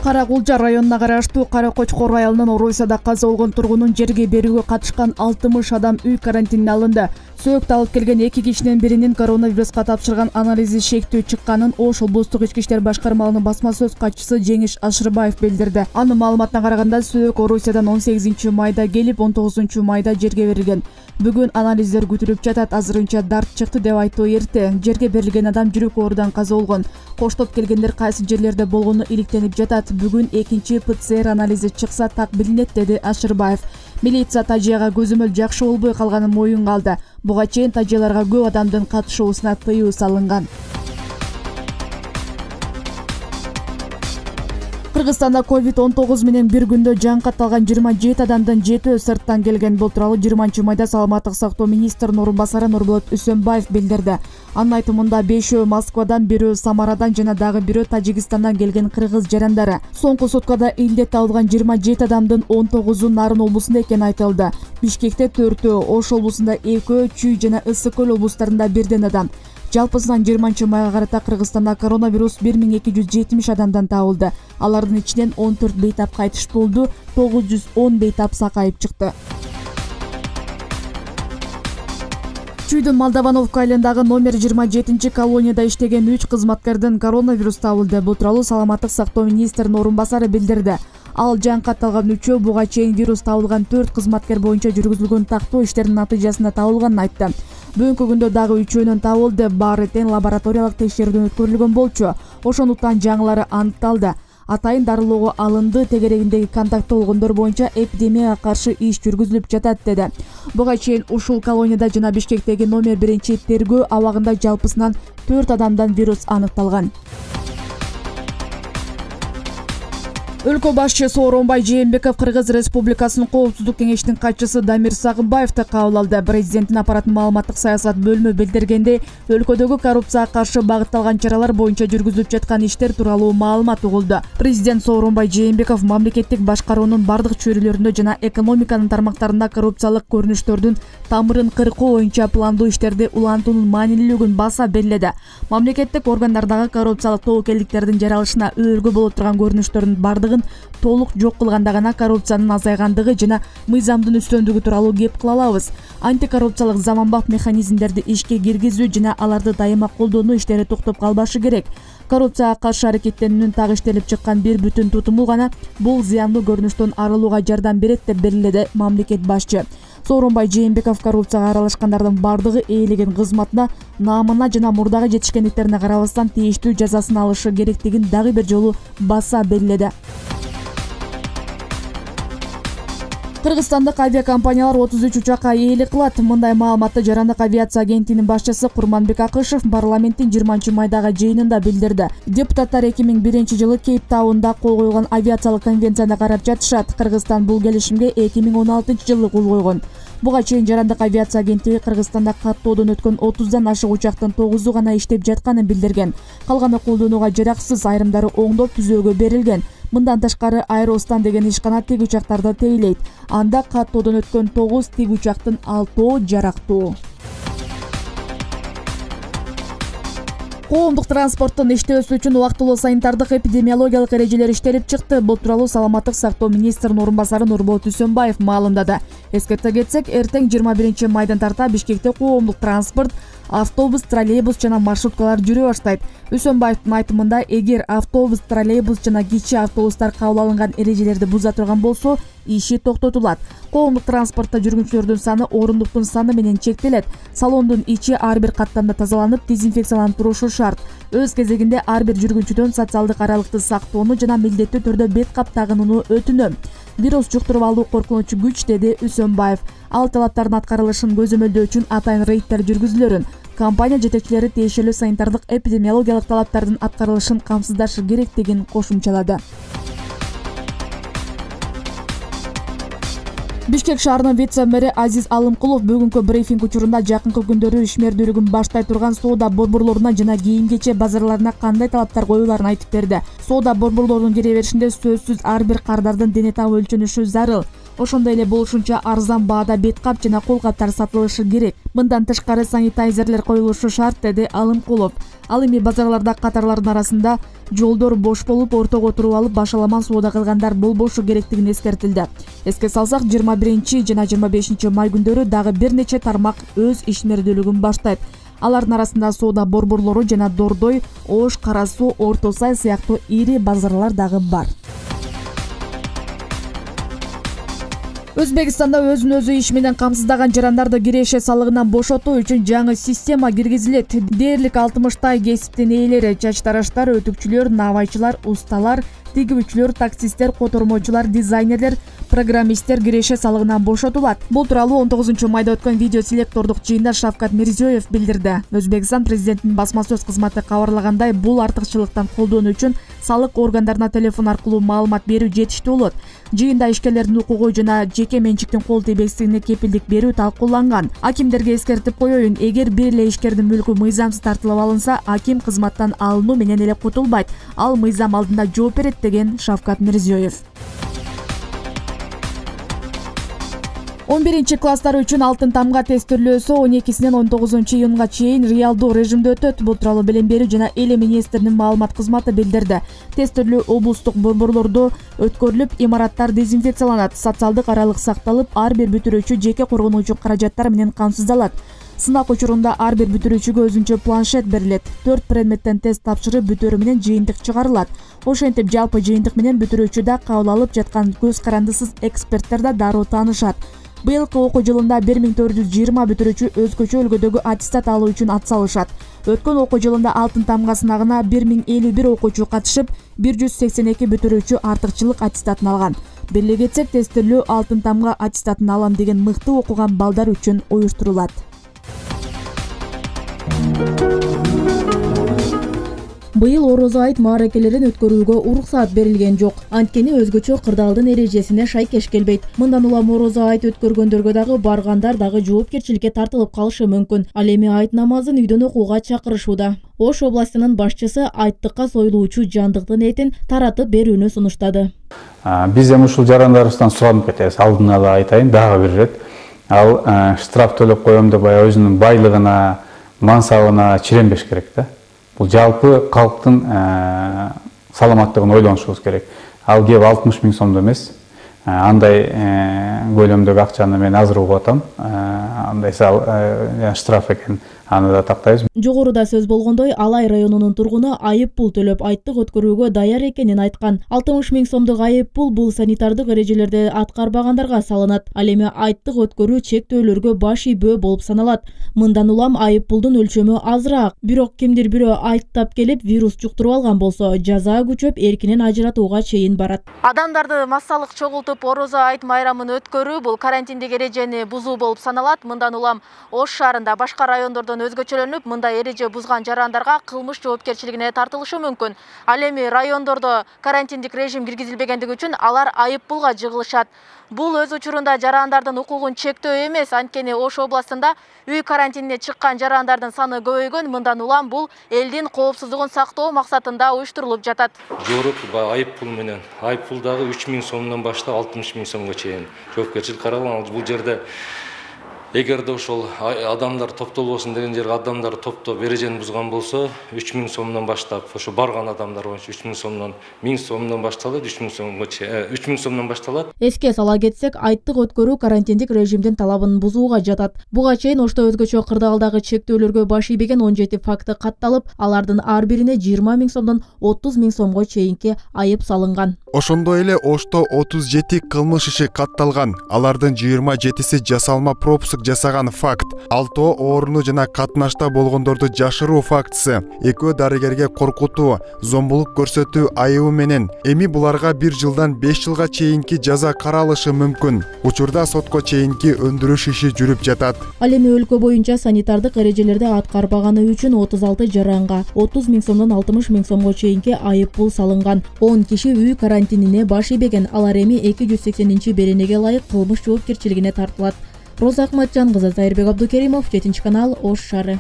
Кара-Кулжа районуна караштуу Кара-Кочкор айылынын Оройсада каза болгон тургунун жерге берүүгө катышкан 60 адам үй карантинине алынды. Сөөктү алып келген 2 кишинин биринин коронавируска тапшырган анализи шектүү чыкканын Ош облустук ички иштер башкармалыгынын басма сөз катчысы Жеңиш Ашырбаев билдирди. Анын маалыматына караганда сөөк Оройсадан 18 майда келип 19 майда жерге берилген. Бүгүн анализдер күтүлүп жатат. Азырынча дарт чыкты деп айтуу эрте. Жерге берилген адам жүрөк оорудан каза болгон. Коштоп келгендер кайсы жерлерде болгону иликтенип жатат. Бүгүн экинчи ПЦР анализи чыкса так билинет, деди Ашырбаев. Милиция тажыяга көзөмөл жакшы болбой калганын моюнга алды. Буга чейин тажыяларга көп адамдын катышуусуна тыюу салынган. Кыргызстанда COVID-19 менен бир күндө жан катталган 27 адамдын 7 сырттан келген. Бул тууралуу 20 майда саламаттык сактоо министринин орун басары Нурболот Үсөнбаев билдирди. Анын айтымында 5 Москвадан, 1 Самарадан жана дагы 1 Тажикстандан келген кыргыз жарандары. Соңку суткада илдет табылган 27 адамдын 19-у Нарын облусунда экени айтылды. Бишкекте 4, Ош облусунда 2, Чүй жана Ысык көл облустарында 1 адам. Жалпысынан 20 майга карата Кыргызстанда коронавирус 1270 адамдан табылды. Алардын ичинен 14 бейтап кайтыш болду, 910 бейтап сакайып чыкты. Чүйдүн Молдовановка айылындагы номер 27 колонияда иштеген 3 кызматкердин коронавирус табылды. Бул тууралуу саламаттык сактоо министринин орун басары билдирди. Ал жан катталган 3 буга чейин вирус табылган 4 кызматкер боюнча жүргүзүлгөн тактоо иштеринин натыйжасында табылганын айтты. Бүгүнкү күндө дагы 3-өнүн табылды. Баары тең лабораториялык текшерүүдөн өткөрүлгөн болчу. Ошондуктан жаңылары аныкталды. Атайын дарылоого алынды. Тегерегиндеги контакты болгондор боюнча эпидемияга каршы иш жүргүзүлүп жатат, деди. Буга чейин ушул колонияда жана Бишкектеги номер 1 тергөө абагында жалпысынан 4 адамдан вирус аныкталган. Өлкө башчысы Сооронбай Жээнбеков Кыргыз Республикасынын Коопсуздук кеңешинин катчысы Дамир Сагынбаевди кабыл алды. Президенттин аппаратынын маалыматтык саясат бөлүмү билдиргендей, өлкөдөгү коррупцияга каршы багытталган чаралар боюнча жүргүзүлүп жаткан иштер тууралуу маалымат угулду. Президент Сооронбай Жээнбеков мамлекеттик башкаруунун бардык чөйрөлөрүндө жана экономиканын тармактарында коррупциялык көрүнүштөрдүн тамырын кыркуу боюнча пландуу иштерди улантуунун маанилүүлүгүн баса белгиледи. Мамлекеттик органдардагы коррупциялык тобокелдиктердин жаралышына өөлгө боло турган көрүнүштөрдүн бардыгын толук жок кылганда гана коррупциянын азайгандыгы жана мыйзамдын үстөмдүгү тууралуу кеп кыла алабыз. Антикоррупциялык заманбап механизмдерди ишке киргизүү жана аларды дайыма колдонуу иштери токтоп калбашы керек. Коррупцияга каршы аракеттенүүнүн так иштелип чыккан бир бүтүн тутуму гана бул зыяндуу көрүнүштөн арылууга жардам берет деп белгиледи мамлекет башчы. Сооронбай Жээнбеков коррупцияга аралашкандардын бардыгы ээлеген кызматына, наамына жана мурдагы жетишкендиктерине карабастан тийиштүү жазасын алышы керектигин дагы бир жолу баса белгиледи. Кыргызстандык авиакомпаниялар 33 учакка ээлик кылат. Мындай маалыматты Жарандык авиация агенттигинин башчысы Курманбек Акышев парламенттин 20 майдагы жыйынында билдирди. Депутаттар 2001-жылы Кейптаунда кол койгон авиациялык конвенцияны карап жатышат. Кыргызстан бул келишимге 2016-жылы кол койгон. Буга чейин Жарандык авиация агенттиги Кыргызстанда каттоодон өткөн 30дан ашык учактын 9-у гана иштеп жатканын билдирген. Калганы колдонууга жараксыз, айрымдары оңдоп түзөөгө берилген. Мындан тышкары Аэростан деген ишкана тиг учактарды тейлейт. Анда каттоодон өткөн 9 тиг учактын 6-оо жарактуу. Коомдук транспорттун иштөөсү үчүн убактылуу санитардык эпидемиологиялык эрежелер иштелип чыкты. Бул тууралуу саламаттык сактоо министринин орун басары Нурболот Үсөнбаев маалымдады. Эскерте кетсек, эртең 21 майдан тарта Бишкекте коомдук транспорт, автобус, троллейбус жана маршруткалар жүрө баштайт. Үсөнбаевдин айтымында, эгер автобус, троллейбус жана кичи автобустар кабыл алынган эрежелерди буза турган болсо, иши токтотулат. Коомдук транспортто жүргүнчүлөрдүн саны орундуктун саны менен чектелет. Салондун ичи ар бир каттамда тазаланып, дезинфекцияланып турушу шарт. Өз кезегинде ар бир жүргүнчүдөн социалдык аралыкты сактоону жана милдеттүү түрдө бет кап тагынууну өтүнөм. Вирус жуктуруп алуу коркунучу күч, деди Үсөнбаев. Ал талаптардын аткарылышын көзөмөлдөө үчүн атайын рейдтер жүргүзүлөрүн, компания жетекчилери тиешелүү санитардык эпидемиологиялык талаптардын аткарылышын камсыздашы керектигин кошумчалады. Бишкек шаарынын вице-мэри Азиз Алымкулов бүгүнкү брифинг учурунда жакынкы күндөрү ишмердүүлүгүн баштай турган соода борборлоруна жана кийим-кече базарларына кандай талаптар коюлаарын айтып берди. Соода борборлорунун кире беришинде сөзсүз ар бир кардардын дене табы өлчөнүшү зарыл. Ошондой эле болушунча арзан баада бет кап жана кол каптар сатылышы керек. Мындан тышкары санитайзерлер коюлушу шарт, деди Алымкулов. Ал эми базарларда катарлардын арасында жолдор бош болуп, ортого туруп алып башаламан соода кылгандар болбошу керектигин эскертилди. Эске салсак, 21 жана 25 май күндөрү дагы бир нече тармак өз ишмердүүлүгүн баштайт. Алардын арасында соода борборлору жана Дордой, Ош, Кара Суу, Орто Сай сыяктуу ири базарлар дагы бар. Өзбекстанда өзүн өзү иш менен камсыздаган жарандарды киреше салыгынан бошотуу үчүн жаңы система киргизилет. Дээрлик 60 кесиптин ээлери, чач тараштар, өтүкчүлөр, навайчылар, усталар, тигүүчүлөр, таксисттер, котормочулар, дизайнерлер, программисттер киреше салыгынан бошотулат. Бул тууралуу 19 майда өткөн видео селектордук жыйында Шавкат Мирзиёев билдирди. Өзбекстан президентинин басма сөз кызматы кабарлагандай, бул артыкчылыктан колдонуу үчүн салык органдарына телефон аркылуу маалымат берүү жетиштүү болот. Жыйында ишкерлердин укугу жана жеке менчиктин кол тийбестигине кепилдик берүү талкууланган. Акимдерге эскертип коеюн, эгер бир эле ишкердин мүлкү мыйзамсыз тартылып алынса, аким кызматтан алынуу менен эле кутулбайт. Ал мыйзам алдында жооп берет, деген Шавкат Мирзиёев. 11 класстар үчүн алтын тамга тестирлөөсү 12-синен 19-июнга чейин реалдуу режимде өтөт. Бул тууралуу билим берүү жана эл министринин маалымат кызматы билдирди. Тестирлөө облустук борборлордо өткөрүлүп, имараттар дезинфекцияланат, социалдык аралык сакталып, ар бир бүтүрүүчү жеке коргонуучу каражаттар менен камсыздалат. Сынак учурунда ар бир бүтүрүүчүгө өзүнчө планшет берилет. 4 предметтен тест тапшырып, бүтөөрү менен жыйынтык чыгарылат. Ошентип, жалпы жыйынтык менен бүтүрүүчү да кабыл алып жаткан көз карандысыз эксперттер да дароо таанышат. Быйылкы окуу жылында 1420 бүтүрүүчү өзгөчө өлкөдөгү аттестат алуу үчүн атсалышат. Өткөн окуу жылында алтын тамга сынагына 1051 окуучу катышып, 182 бүтүрүүчү артыкчылык аттестатын алган. Беле кетсек, тестирлөө алтын тамга аттестатын алам деген мыкты окуган балдар үчүн уюштурулат. Быйыл орозо айт мааракелерин өткөрүүгө уруксаат берилген жок. Анткени өзгөчө кырдаалдын эрежесине шайкеш келбейт. Мындан улам орозо айт өткөргөндөргө дагы баргандар дагы жоопкерчиликке тартылып калышы мүмкүн. Ал эми айт намазын үйдөн окууга чакырышууда. Ош областынын башчысы айттыкка союлуучу жандыктын этин таратып берүүнү сунуштады. Биз эми ушул жарандарыбыздан суранып кетебиз. Алдын ала айтайын, дагы бир ирет. Ал штраф төлөп коем деп өзүнүн байлыгына, мансабына чиренбеш керек да. Бул жалпы калктын саламаттыгын ойлонушубуз керек. Ал кеп 60 000 сомдо эмес. Андай көлөмдөгү акчаны мен азыр угуп атам. Андай штраф экен. Аны да тактайбыз. Жогоруда сөз болгондой, Алай районунун тургуну айып пул төлөп айттык өткөрүүгө даяр экенин айткан. 60 000 сомдук айып пул бул санитардык эрежелерди аткарбагандарга салынат. Ал эми айттык өткөрүү чектөөлөргө баш ийбөө болуп саналат. Мындан улам айып пулдун өлчөмү азыраак. Бирок кимдир бирөө айттап келип вирус жуктуруп алган болсо, жаза күчөп эркинен ажыратууга чейин барат. Адамдарды массалык чогултуп орозо айт майрамын өткөрүү бул карантиндик эрежени бузуу болуп саналат. Мындан улам Ош шаарында башка райондордон өзгөчөлөнүп, мындай эреже бузган жарандарга кылмыш жоопкерчилигине тартылышы мүмкүн. Ал эми райондордо карантиндик режим киргизилбегендиги үчүн алар айып пулга жыгылышат. Бул өз учурунда жарандардын укугун чектөө эмес, анткени Ош областында үй карантинине чыккан жарандардын саны көбөйгөн. Мындан улам бул элдин коопсуздугун сактоо максатында уюштурулуп жатат. Жогорку айып пул менен айып пул дагы 3 000 сомдон баштап 60 000 сомго чейин жоопкерчилик каралган. Бул жерде эгерде ошол адамдар топтолбосун деген жерге адамдар топтоп эрежени бузган болсо 3 000 сомдон баштап, ошо барган адамдар боюнча 3 000 сомдон 1000 сомдон башталат, 3 000 сомго чейин 3 000 сомдон башталат. Эске сала кетсек, айттык өткөрүү карантиндик режимдин талабын бузууга жатат. Буга чейин Ошто өзгөчө кырдаалдагы чектөөлөргө баш ийбеген 17 факты катталып, алардын ар бирине 20 000 сомдон 30 000 сомго чейинки айып салынган. Ошондой эле Ошто 37 кылмыш иши катталган. Алардын 27си жасалма пропуск жасаган факт, 6 ооруну жана катнашта болгондорду жашыруу фактысы, 2 дарыгерге коркутуу, зомбулук көрсөтүү айыбы менен. Эми буларга 1 жылдан 5 жылга чейинки жаза каралышы мүмкүн. Учурда сотко чейинки өндүрүш иши жүрүп жатат. Ал эми өлкө боюнча санитардык эрежелерди аткарбаганы үчүн 36 жаранга 30 000 сомдон 60 000 сомго чейинки айып пул салынган. 10 киши үй карантинине баш ийбеген. Алар эми 280-беренеге ылайык кылмыш жоопкерчилигине тартылат. Роза Акматжан кызы, Зайырбек Абдукеримов, 7 канал, Ош шаары.